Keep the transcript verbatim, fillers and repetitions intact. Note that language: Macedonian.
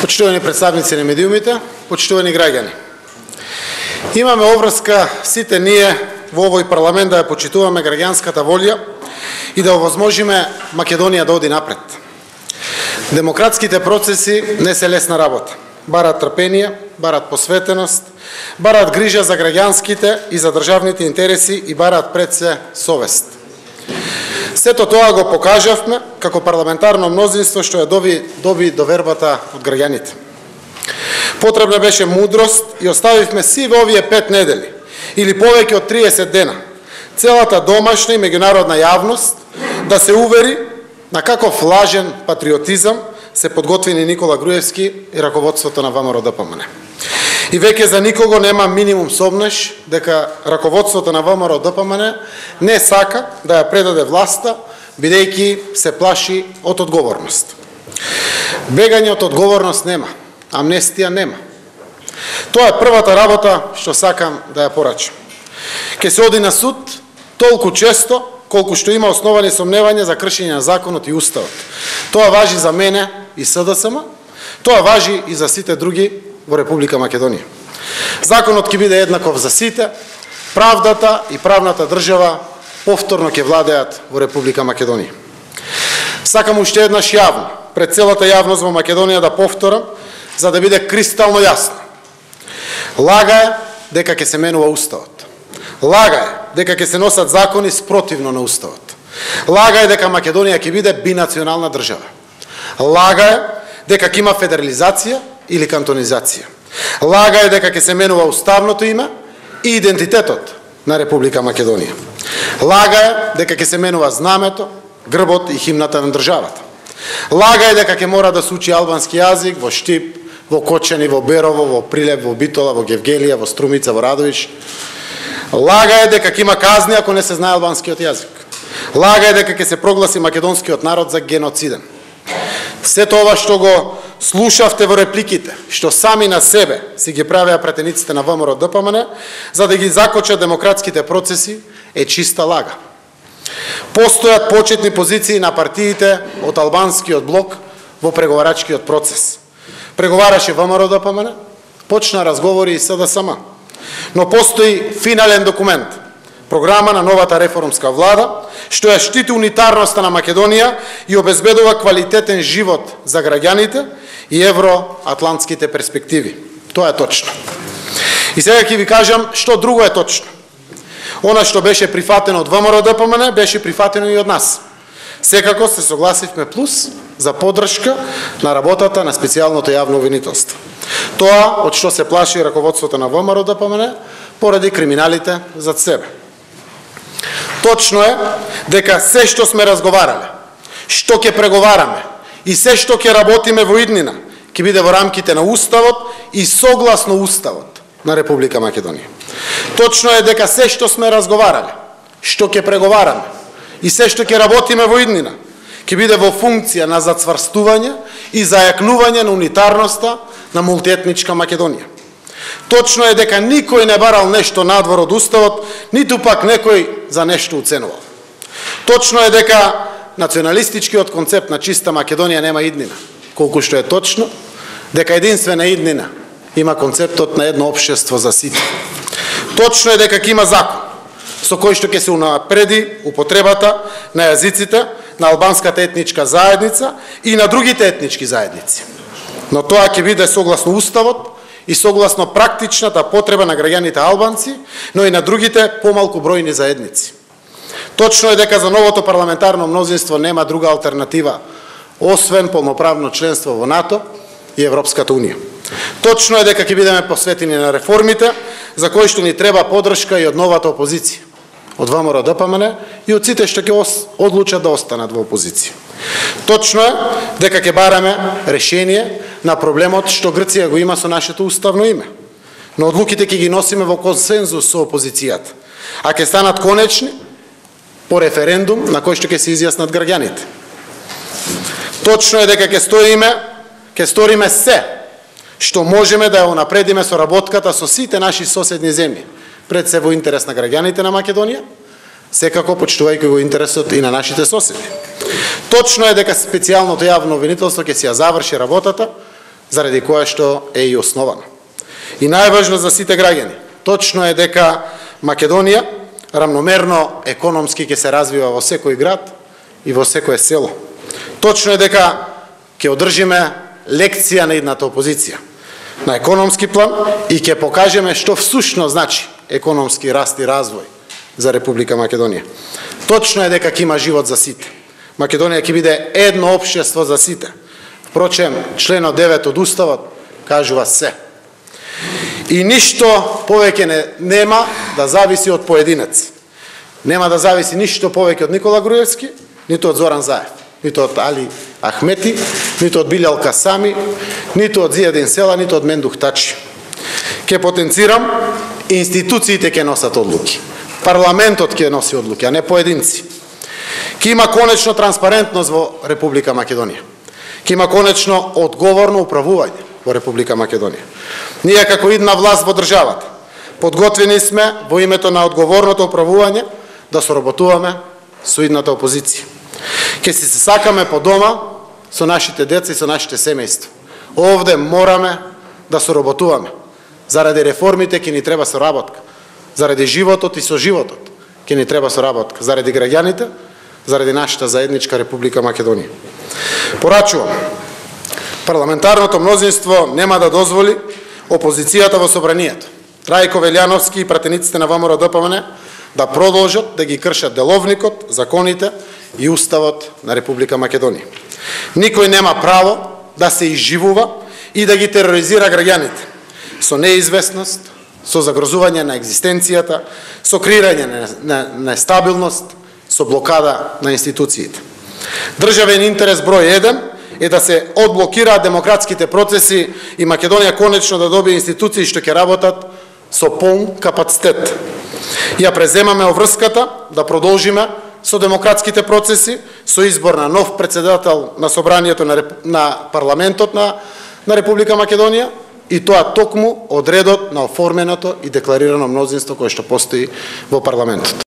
Почитувани представници на медиумите, почитувани граѓани. Имаме обврска сите ние во овој парламент да ја почитуваме граѓанската волја и да овозможиме Македонија да оди напред. Демократските процеси не се лесна работа. Барат трпение, барат посветеност, барат грижа за граѓанските и за државните интереси и барат пред се совест. Сето тоа го покажавме како парламентарно мнозинство што ја доби, доби довербата од граѓаните. Потребна беше мудрост и оставивме си во овие пет недели или повеќе од триесет дена целата домашна и меѓународна јавност да се увери на каков лажен патриотизам се подготвени Никола Груевски и раководството на ВМРО-ДПМН. И веќе за никого нема минимум сомнеш дека раководството на ВМРО-ДПМН не сака да ја предаде власта, бидејќи се плаши од одговорност. Бегање од одговорност нема, амнестија нема. Тоа е првата работа што сакам да ја порачам. Ке се оди на суд толку често колку што има основани сомневања за кршење на законот и уставот. Тоа важи за мене и СДСМ, тоа важи и за сите други во Република Македонија. Законот ќе биде еднаков за сите, правдата и правната држава повторно ќе владеат во Република Македонија. Сакам уште еднаш јавно, пред целата јавност во Македонија да повторам, за да биде кристално јасно. Лага е дека ќе се менува уставот. Лага е дека ќе се носат закони спротивно на уставот. Лага е дека Македонија ќе биде бинационална држава. Лага е дека ќе има федерализација или кантонизација. Лага е дека ќе се менува уставното име и идентитетот на Република Македонија. Лага е дека ќе се менува знамето, грбот и химната на државата. Лага е дека ќе мора да се учи албански јазик во Штип, во Кочани, во Берово, во Прилеп, во Битола, во Гевгелија, во Струмица, во Радовиш. Лага е дека ќе има казни ако не се знае албанскиот јазик. Лага е дека ќе се прогласи македонскиот народ за геноциден. Сето ова што го слушавте во репликите, што сами на себе си ги правеа пратениците на ВМРО-ДПМН, за да ги закочат демократските процеси, е чиста лага. Постојат почетни позиции на партиите од албанскиот блок во преговарачкиот процес. Преговараше ВМРО-ДПМН, почна разговори и СДСМ. Но постои финален документ, програма на новата реформска влада, што ја штити унитарноста на Македонија и обезбедува квалитетен живот за граѓаните и евроатлантските перспективи. Тоа е точно. И сега ќе ви кажам што друго е точно. Она што беше прифатено од ВМРО-ДПМН беше прифатено и од нас. Секако се согласивме плюс за поддршка на работата на специјалното јавно обвинителство. Тоа од што се плаши раководството на ВМРО-ДПМН поради криминалите зад себе. Точно е дека се што сме разговарале, што ќе преговараме и се што ќе работиме во иднина, ќе биде во рамките на уставот и согласно уставот на Република Македонија. Точно е дека се што сме разговарале, што ќе преговараме и се што ќе работиме во иднина, ќе биде во функција на зацврстување и зајакнување на унитарноста на мултиетничка Македонија. Точно е дека никој не барал нешто надвор од уставот, ниту пак некој за нешто уценувал. Точно е дека националистичкиот концепт на чиста Македонија нема иднина, колку што е точно дека единствена иднина има концептот на едно општество за сите. Точно е дека ќе има закон со кој што ќе се унапреди употребата на јазиците на албанската етничка заедница и на другите етнички заедници. Но тоа ќе биде согласно уставот и согласно практичната потреба на граѓаните албанци, но и на другите помалку бројни заедници. Точно е дека за новото парламентарно мнозинство нема друга алтернатива, освен полноправно членство во НАТО и Европската Унија. Точно е дека ќе бидеме посветени на реформите, за кои што ни треба поддршка и од новата опозиција, од ВМРО-ДПМН и од сите што ќе одлучат да останат во опозиција. Точно е дека ќе бараме решение на проблемот што Грција го има со нашето уставно име. Но одлуките ќе ги носиме во консензус со опозицијата, а ќе станат конечни по референдум на кој што ќе се изјаснат граѓаните. Точно е дека ќе стоиме, ќе сториме се што можеме да ја унапредиме соработката со сите наши соседни земји, пред се во интерес на граѓаните на Македонија, секако почитувајќи го интересот и на нашите соседи. Точно е дека специјалното јавно обвинителство ќе си ја заврши работата заради која што е и основана. И најважно за сите граѓани, точно е дека Македонија рамномерно економски ќе се развива во секој град и во секое село. Точно е дека ќе одржиме лекција на едната опозиција на економски план и ќе покажеме што всушно значи економски раст и развој за Република Македонија. Точно е дека ќе има живот за сите. Македонија ќе биде едно општество за сите. Впрочем, членот девет од Уставот кажува се. И ништо повеќе не, нема да зависи од поединец. Нема да зависи ништо повеќе од Никола Груевски, ниту од Зоран Заев, ниту од Али Ахмети, ниту од Билјал Касами, ниту од Зијадин Села, ниту од Мендух Тачи. Ке потенцирам, институциите ке носат одлуки. Парламентот ке носи одлуки, а не поединци. Ке има конечно транспарентност во Република Македонија. Ке има конечно одговорно управување во Република Македонија. Ние како идна власт во државата подготвени сме во името на одговорното управување да соработуваме со идната опозиција. Ке си се сакаме по дома со нашите деца и со нашите семејства. Овде мораме да соработуваме. Заради реформите ќе ни треба соработка. Заради животот и со животот ќе ни треба соработка. Заради граѓаните, заради нашата заедничка Република Македонија. Порачувам, парламентарното мнозинство нема да дозволи опозицијата во собранието, Трајко Велјановски и пратениците на ВМРО-ДПМН да продолжат да ги кршат деловникот, законите и уставот на Република Македонија. Никој нема право да се изживува и да ги тероризира граѓаните со неизвестност, со загрозување на екзистенцијата, со креирање на нестабилност, со блокада на институциите. Државен интерес број еден е да се одблокираат демократските процеси и Македонија конечно да добие институции што ќе работат со полн капацитет. Ја преземаме обврската да продолжиме со демократските процеси, со избор на нов председател на собранието на, на парламентот на, на Република Македонија и тоа токму од редот на оформеното и декларирано мнозинство кое што постои во парламентот.